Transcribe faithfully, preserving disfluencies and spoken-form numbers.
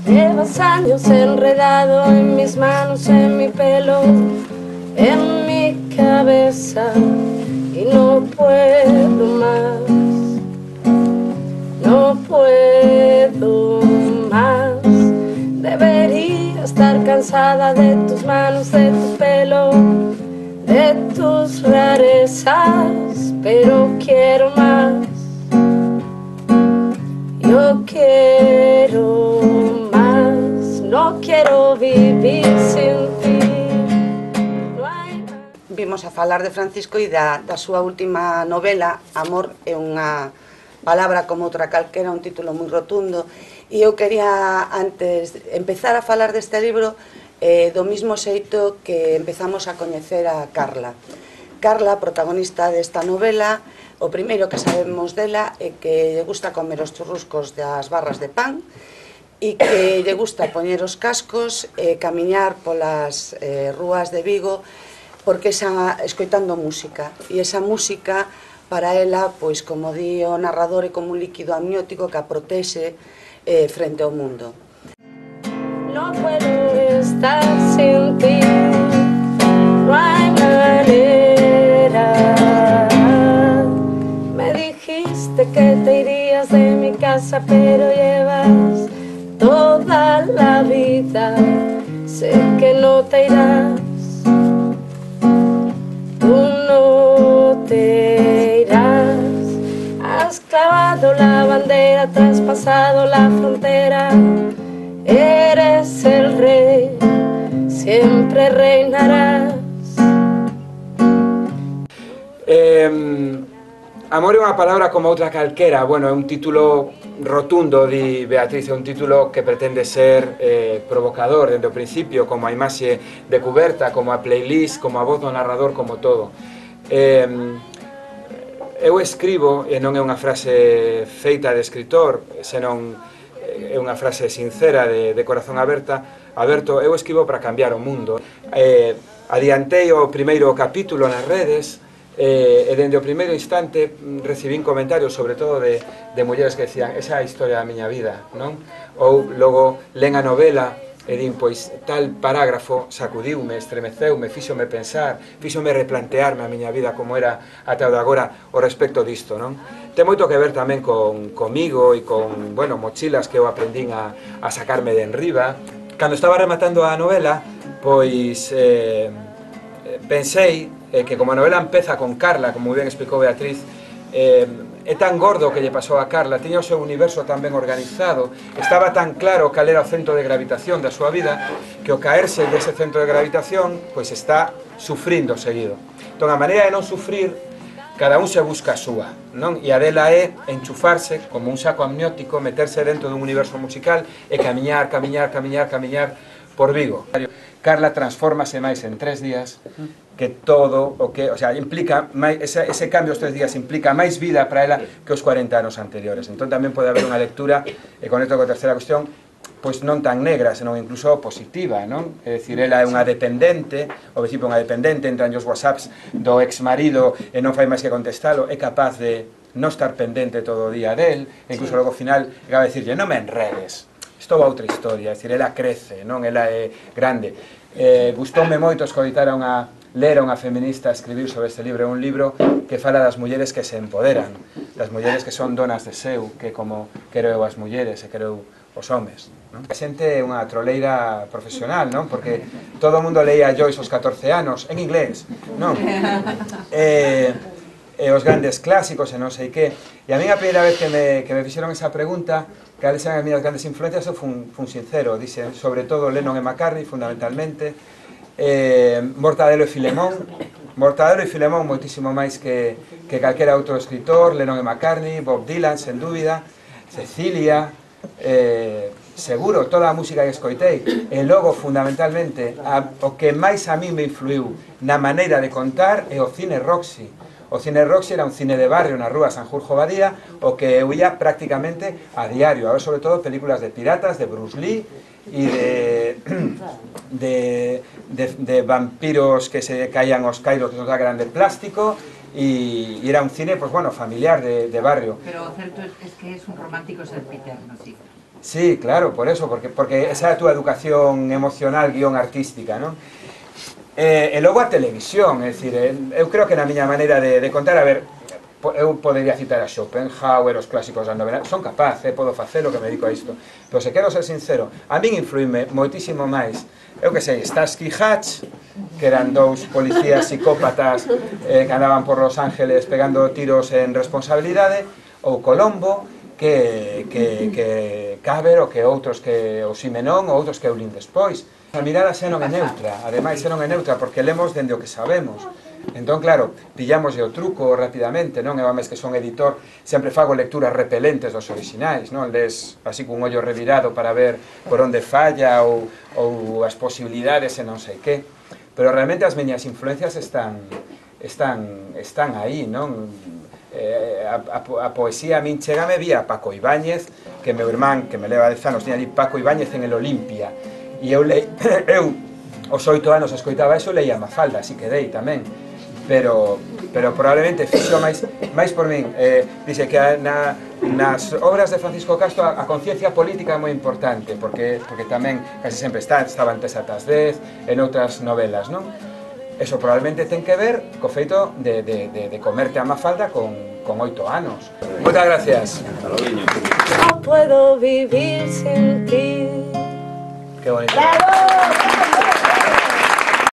Llevas años enredado en mis manos, en mi pelo, en mi cabeza, y no puedo más, no puedo más. Debería estar cansada de tus manos, de tu pelo, de tus rarezas, pero quiero más. Yo quiero más, no quiero vivir sin ti. No hai... Vimos a falar de Francisco e da, da súa última novela, Amor é unha palabra como outra calquera, un título moi rotundo, e eu quería antes empezar a falar deste libro eh, do mismo xeito que empezamos a coñecer a Carla. Carla, protagonista desta novela, o primeiro que sabemos dela é que lle gusta comer os churruscos das barras de pan e que lle gusta poñer os cascos e camiñar polas eh, rúas de Vigo porque esa, escoitando música, e esa música para ela, pois como di o narrador, é como un líquido amniótico que a protexe eh, frente ao mundo. No puedo estar sin ti, no hay manera. Me dijiste que te irías de mi casa, pero llevas toda la vida. Sé que no te irás, tú no te irás. Has clavado la bandera, traspasado la frontera. Eres el rey, siempre reinarás. Eh, amor é unha palabra como outra calquera. Bueno, é un título rotundo, di Beatriz, é un título que pretende ser eh, provocador dende o principio, como a imaxe de cuberta, como a playlist, como a voz do narrador, como todo. Eh, eu escribo, e non é unha frase feita de escritor, senón é unha frase sincera, de, de corazón aberta, aberto, eu escribo para cambiar o mundo. Eh, adiantei o primeiro capítulo nas redes, eh, e dende o primeiro instante recibín comentarios, sobre todo de, de mulleres que decían, esa é a historia da miña vida, non? Ou logo len a novela e din, pois tal parágrafo sacudiume, estremeceume, fíxome pensar, fíxome replantearme a miña vida como era ata o de agora o respecto disto, non? Ten moito que ver tamén con comigo e con, bueno, mochilas que eu aprendín a, a sacarme de enriba. Cando estaba rematando a novela, pois eh, pensei eh, que como a novela empeza con Carla, como moi ben explicou Beatriz, eh, é tan gordo que lle pasou a Carla, tiña o seu universo tan ben organizado, estaba tan claro cal era o centro de gravitación da súa vida, que o caerse dese centro de gravitación, pois está sufrindo seguido. Entón, a maneira de non sufrir, cada un se busca a súa, non? E a dela é enchufarse como un saco amniótico, meterse dentro dun universo musical e camiñar, camiñar, camiñar, camiñar por Vigo. Carla transfórmase máis en tres días que todo o que, o sea, implica máis, ese, ese cambio os tres días implica máis vida para ela que os cuarenta anos anteriores. Entón tamén pode haber unha lectura, e con isto coa terceira cuestión, pois non tan negra, senón incluso positiva, non? É dicir, ela é unha dependente, o principio unha dependente, entran os whatsapps do ex-marido e non fai máis que contestalo, é capaz de non estar pendente todo o día del, e incluso logo ao final acaba de dicirlle, non me enredes, isto é outra historia, é dicir, ela crece, non? Ela é grande. Eh, gustoume moito escoitar a unha ler a unha feminista escribir sobre este libro, é un libro que fala das mulleres que se empoderan, das mulleres que son donas de seu, que como quero eu as mulleres e quero eu os homes, non? A xente é unha troleira profesional, non? Porque todo o mundo leía Joyce aos catorce anos, en inglés, non? E, e os grandes clásicos e non sei que. E a mí a primeira vez que me, que me fixeron esa pregunta, cales eran as minhas grandes influencias, eu fun, fun sincero, dixen, sobre todo Lennon e McCartney, fundamentalmente, eh, Mortadelo e Filemón, Mortadelo e Filemón moitísimo máis que, que calquera outro escritor, Lennon e McCartney, Bob Dylan, sen dúbida, Cecilia, eh, seguro, toda a música que escoitei, e logo, fundamentalmente, a, o que máis a mí me influiu na maneira de contar é o cine Roxy. O cine Roxy era un cine de barrio na rúa Sanjurjo Badía, o que eu ia prácticamente a diario, a ver sobre todo películas de piratas, de Bruce Lee, e de, de, de, de vampiros que se caían os cairos que nos da grande plástico, y, y era un cine, pues bueno, familiar, de, de barrio. Pero o certo es, es que es un romántico sempiterno, sí. Sí, claro, por eso, porque, porque esa é a túa educación emocional, guión artística, non? Eh, e logo a televisión, é dicir, eu creo que na miña maneira de, de contar, a ver, eu podería citar a Schopenhauer, os clásicos da novela, son capaz, eh, podo facelo que me dedico a isto, pero se quero ser sincero, a min influíme moitísimo máis, eu que sei, Starsky e Hutch, que eran dous policías psicópatas eh, que andaban por Los Ángeles pegando tiros en responsabilidade, ou Colombo, que, que, que Caber, ou que outros que o Simenón, ou outros que eu lin despois. A mirada xa non é neutra, ademais xa non é neutra porque lemos dende o que sabemos. Entón, claro, pillamos o truco rapidamente, non? Eu, a mes que son editor, sempre fago lecturas repelentes dos orixinais, non? Les así cun ollo revirado para ver por onde falla ou, ou as posibilidades e non sei que. Pero realmente as miñas influencias están, están, están aí, non? Eh, a, a, a poesía a min chegame vía Paco Ibáñez, que meu irmán, que me leva dez anos, tiña ali Paco Ibáñez en el Olimpia, e eu, le, eu aos oito anos escoitaba eso, leía Mafalda, así quedei tamén, pero, pero probablemente fixo máis, máis por min, eh, dixe que na, nas obras de Francisco Castro a, a conciencia política é moi importante, porque, porque tamén casi sempre está, estaba antes atas dez, en outras novelas, non? Eso probablemente ten que ver co feito de, de, de, de comerte a Mafalda con, con oito anos. Moitas gracias. No puedo vivir sin ti. Qué bonito. ¡Bravo!